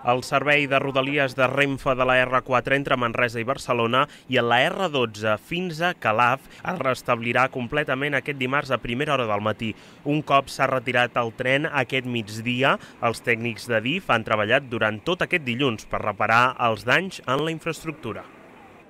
El servei de rodalies de Renfe de la R4 entre Manresa i Barcelona i la R12 fins a Calaf es restablirà completament aquest dimarts a primera hora del matí. Un cop s'ha retirat el tren aquest migdia, els tècnics de DIF han treballat durant tot aquest dilluns per reparar els danys en la infraestructura.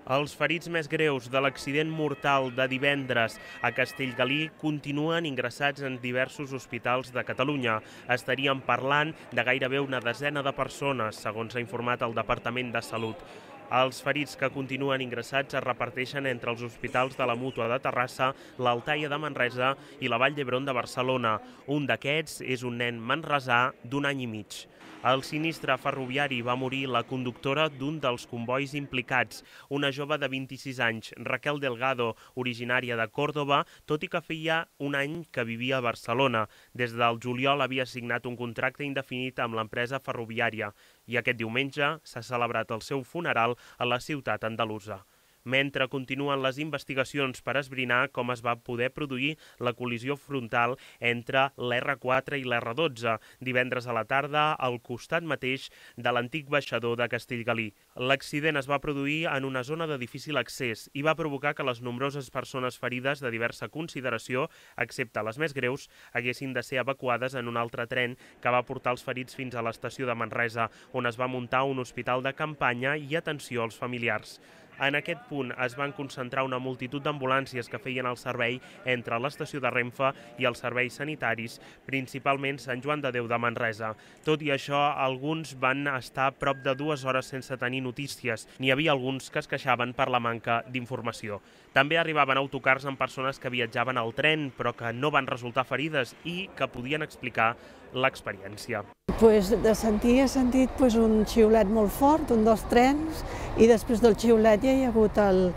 Els ferits més greus de l'accident mortal de divendres a Castellgalí continuen ingressats en diversos hospitals de Catalunya. Estaríem parlant de gairebé una desena de persones, segons ha informat el Departament de Salut. Els ferits que continuen ingressats es reparteixen entre els hospitals de la Mútua de Terrassa, l'Altaia de Manresa i la Vall d'Hebron de Barcelona. Un d'aquests és un nen manresà d'1 any i mig. Al sinistre ferroviari va morir la conductora d'un dels convois implicats, una jove de 26 anys, Raquel Delgado, originària de Còrdova, tot i que feia un any que vivia a Barcelona. Des del juliol havia signat un contracte indefinit amb l'empresa ferroviària i aquest diumenge s'ha celebrat el seu funeral a la ciutat andalusa. Mentre continuen les investigacions per esbrinar com es va poder produir la col·lisió frontal entre l'R4 i l'R12, divendres a la tarda al costat mateix de l'antic baixador de Castellgalí. L'accident es va produir en una zona de difícil accés i va provocar que les nombroses persones ferides de diversa consideració, excepte les més greus, haguessin de ser evacuades en un altre tren que va portar els ferits fins a l'estació de Manresa, on es va muntar un hospital de campanya i atenció als familiars. En aquest punt es van concentrar una multitud d'ambulàncies que feien el servei entre l'estació de Renfe i els serveis sanitaris, principalment Sant Joan de Déu de Manresa. Tot i això, alguns van estar prop de 2 hores sense tenir notícies. N'hi havia alguns que es queixaven per la manca d'informació. També arribaven autocars amb persones que viatjaven al tren, però que no van resultar ferides i que podien explicar l'experiència. De sentir he sentit un xiulet molt fort, un dels trens, i després del xiulet ja hi ha hagut el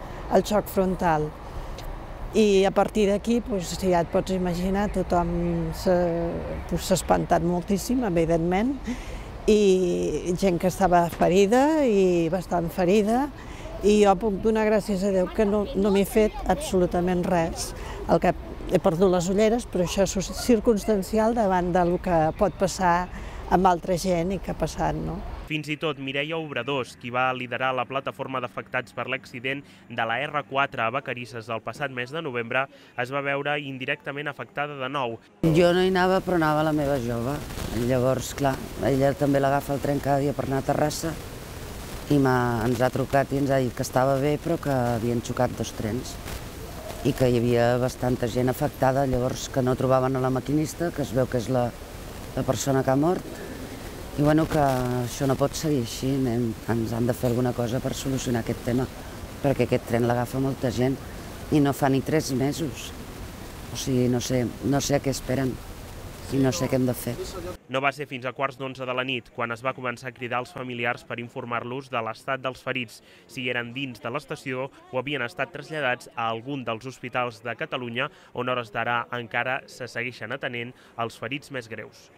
xoc frontal. I a partir d'aquí, ja et pots imaginar, tothom s'ha espantat moltíssim, evidentment, i gent que estava ferida i bastant ferida, i jo puc donar gràcies a Déu que no m'he fet absolutament res. He perdut les ulleres, però això és circumstancial davant del que pot passar amb altra gent i que ha passat, no? Fins i tot Mireia Obradors, qui va liderar la plataforma d'afectats per l'accident de la R4 a Vacarisses el passat mes de novembre, es va veure indirectament afectada de nou. Jo no hi anava, però anava la meva jove. Llavors, clar, ella també l'agafa el tren cada dia per anar a Terrassa i ens ha trucat i ens ha dit que estava bé, però que havien xocat 2 trens i que hi havia bastanta gent afectada, llavors que no trobaven a la maquinista, que es veu que és la persona que ha mort, i bueno, que això no pot seguir així, ens han de fer alguna cosa per solucionar aquest tema, perquè aquest tren l'agafa molta gent i no fa ni 3 mesos. O sigui, no sé a què esperen i no sé què hem de fer. No va ser fins a 11:15 de la nit quan es va començar a cridar als familiars per informar-los de l'estat dels ferits, si eren dins de l'estació o havien estat traslladats a algun dels hospitals de Catalunya on a hores d'ara encara se segueixen atenent els ferits més greus.